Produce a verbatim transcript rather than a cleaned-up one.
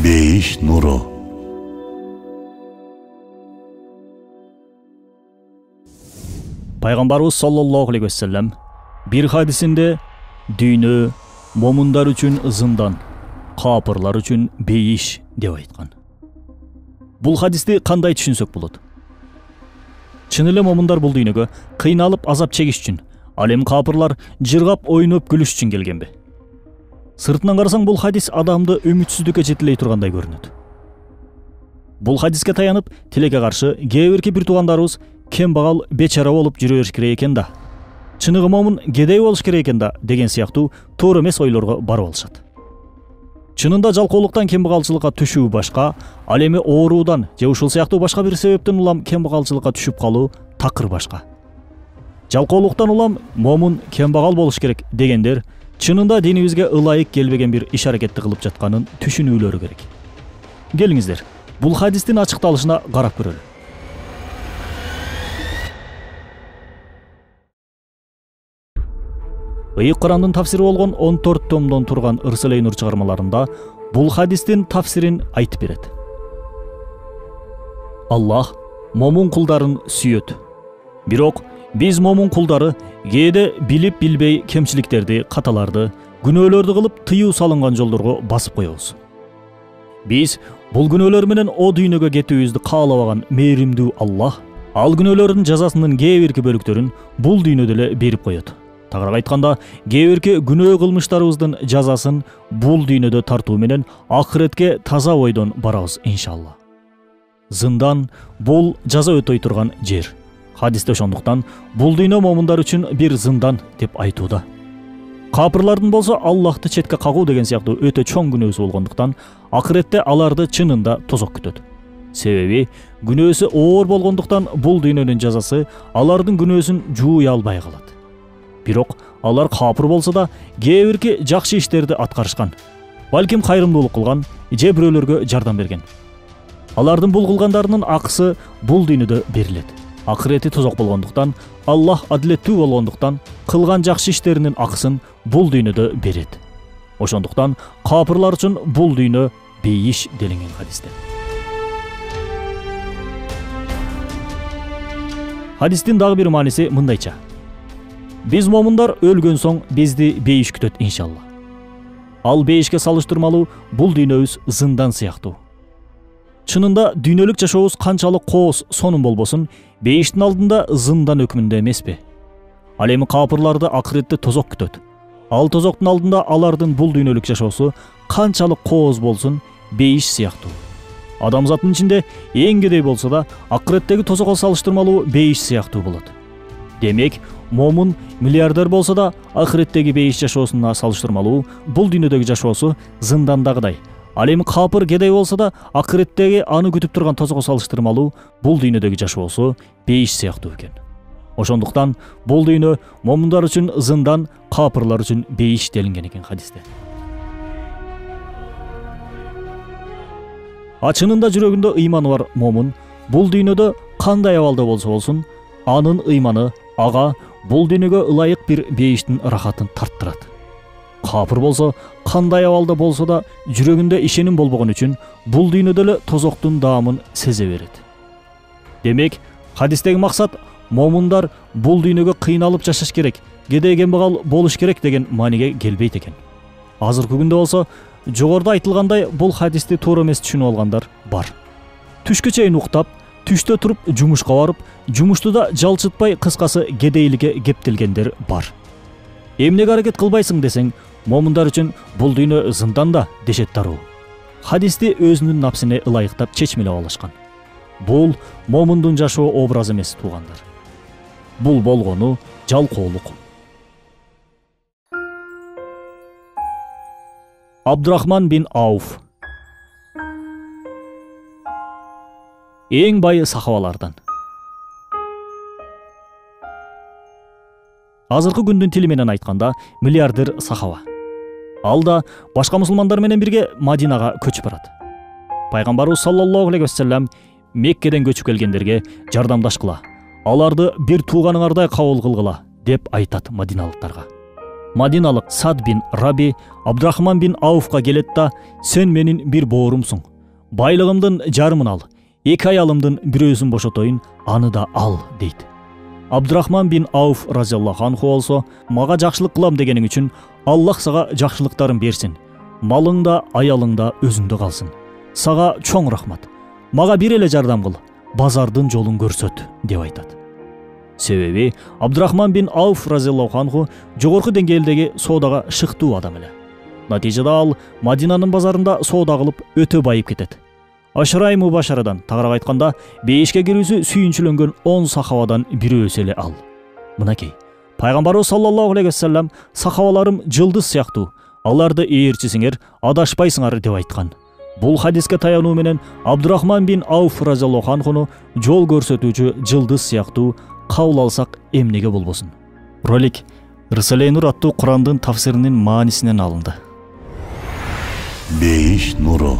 Бейиш нуру. Пайгамбарыбыз саллаллаху алейхи вассалам бир хадисинде дүйнө момундар үчүн зындан, капырлар үчүн бейиш деп айткан. Бул хадисти кандай түшүнсөк болот? Чын эле момундар бул дүйнөгө кыйналып азап чегиш үчүн, ал эми капырлар жыргап ойноп күлүш үчүн келгенби? Сыртынан карасаң бул хадис адамды үмүтсүздүккө жетелей тургандай көрүнөт. Бул хадиске таянып, тилекке каршы кээ бирки бир туугандарыбыз кембагал, бечара болуп жүрө бериш керек экен да, чыныгы момун кедей болуш керек экен да деген сыяктуу туура эмес ойлорго барып алышат. Чынында жалкоолуктан кембагалчылыкка түшүү башка, ал эми ооруудан же ушул сыяктуу башка бир себептен улам кембагалчылыкка түшүп калуу такыр башка. Жалкоолуктан улам момун кембагал болуш керек дегендер чынында динибизге ылайык келбеген бир иш-аракетти кылып жатканын түшүнүүлөрү керек. Келиңиздер, бул хадистин ачыкталышына карап көрөлү. Ыйык Курандын тафсири болгон он төрт томдон турган Ырсалей Нур чыгармаларында бул хадистин тафсирин айтып берет. Аллах момун кулдарын сүйөт. Бирок биз момун кулдары кээде билип билбей кемчиликтерди, каталарды, күнөөлөрдү кылып тыюу салынган жолдорго басып коебуз. Биз бул күнөөлөр менен о дүйнөгө кетүүбүздү каалабаган мээримдүү Аллах ал күнөөлөрдүн жазасынын кээ бирки бөлүктөрүн бул дүйнөдө эле берип коет. Тагыраак айтканда, кээ бирки күнөө кылмыштарыбыздын жазасын бул дүйнөдө тартуу менен акыретке таза бойдон барабыз иншалла. Зындан бул жаза өтөй турган жер. Хадисте ошондуктан бул дүйнө момундар үчүн бир зындан деп айтууда. Капырлардын болсо Аллахты четке кагуу деген сыяктуу өтө чоң күнөөсү болгондуктан акыретте аларды чынында тозок күтөт. Себеби күнөөсү оор болгондуктан бул дүйнөнүн жазасы алардын күнөөсүн жууя албай калат. Бирок алар капыр болсо да кээ бирки жакшы иштерди аткарышкан, балким кайрымдуулук кылган же бирөөлөргө жардам берген. Алардын бул кылгандарынын акысы бул дүйнөдө берилет. Акырети тозок болгондуктан, Аллах адилеттүү болгондуктан кылган жакшы иштеринин акысын бул дүйнөдө берет. Ошондуктан капырлар үчүн бул дүйнө бейиш делинген хадисте. Хадистин дагы бир мааниси мындайча: биз момундар өлгөн соң бизди бейиш күтөт иншалла. Ал бейишке салыштырмалуу бул дүйнөбүз зындан сыяктуу. Чынында дүйнөлүк жашообуз канчалык кооз сонун болбосун, бейиштин алдында зындан өкмүндө эмеспи? Ал эми капырларды акыретте тозок күтөт. Ал тозоктун алдында алардын бул дүйнөлүк жашоосу канчалык кооз болсун, бейиш сыяктуу. Адамзаттын ичинде эң кедей болсо да акыреттеги тозокко салыштырмалуу бейиш сыяктуу болот. Демек, момун миллиардер болсо да акыреттеги бейиш жашоосуна салыштырмалуу бул дүйнөдөгү жашоосу зындандагыдай. Ал эми капыр кедей болсо да акыреттеги аны күтүп турган тозокко салыштырмалуу бул дүйнөдөгү жашоосу бейиш сыяктуу экен. Ошондуктан бул дүйнө момундар үчүн зындан, капырлар үчүн бейиш делинген экен хадисте. А чынында жүрөгүндө ыйманы бар момун бул дүйнөдө кандай абалда болсо болсун, анын ыйманы ага бул дүйнөгө ылайык бир бейиштин рахатын тарттырат. Капыр болсо, кандай абалда болсо да жүрөгүндө ишеним болбогон үчүн бул дүйнөдө эле тозоктун даамын сезе берет. Демек, хадистеги максат момундар бул дүйнөгө кыйналып жашаш керек, кедей кембагал болуш керек деген мааниге келбейт экен. Азыркы күндө болсо, жогоруда айтылгандай бул хадисти туура эмес түшүнүп алгандар бар. Түшкө чейин уктап, түштө туруп жумушка барып, жумушту да жалчытпай, кыскасы кедейликке кептелгендер бар. Эмнеге аракет кылбайсың десең, момундар үчүн бул дүйнө зындан да дешет дароо. Хадисти өзүнүн напсине ылайыктап чечмелеп алышкан. Бул момундун жашоо образы эмес туугандар. Бул болгону жалкоолук. Абдурахман бин Ауф эң бай сахабалардан. Азыркы күндүн тили менен айтканда миллиардер сахаба. Ал да башка мусулмандар менен бирге Мадинага көчүп барат. Пайгамбарыбыз саллаллаху алейхи вассалам Меккеден көчүп келгендерге жардамдашкыла, аларды бир тууганыңардай кабыл кылгыла деп айтат мадиналыктарга. Мадиналык Сад бин Раби Абдрахман бин Ауфка келет да: "Сен менин бир боорумсуң. Байлыгымдын жарымын ал. Эки аялымдын бирөөсүн бошотоюн, аны да ал" дейт. Абдрахман бин Ауф разияллаху анху болсо: "Мага жакшылык кылам дегениң үчүн Аллах сага жакшылыктарын берсин. Малың да, аялың да өзүңдө калсын. Сага чоң рахмат. Мага бир эле жардам кыл. Базардын жолун көрсөт" деп айтат. Себеби Абдрахман бин Ауф разияллаху анху жогорку деңгээлдеги соодага шыктуу адам эле. Натыйжада ал Мадинанын базарында соода кылып өтө байып кетет. Ашрай мубашарадан, тагыраак айтканда, бейишке кирүүсү сүйүнчүлөнгөн он сахабадан бирөөсү эле ал. Мынакей, пайгамбарыбыз саллаллаху алейхи вассалам: "Сахабаларым жылдыз сыяктуу, аларды ээрчисиңер, адашпайсыңар" деп айткан. Бул хадиске таянуу менен Абдрахман бин Ауф разияллаху анхуну жол көрсөтүүчү жылдыз сыяктуу кабыл алсак эмнеге болбосун. Ролик Рисале Нур аттуу Курандын тафсиринин маанисинен алынды. Бейиш нуру.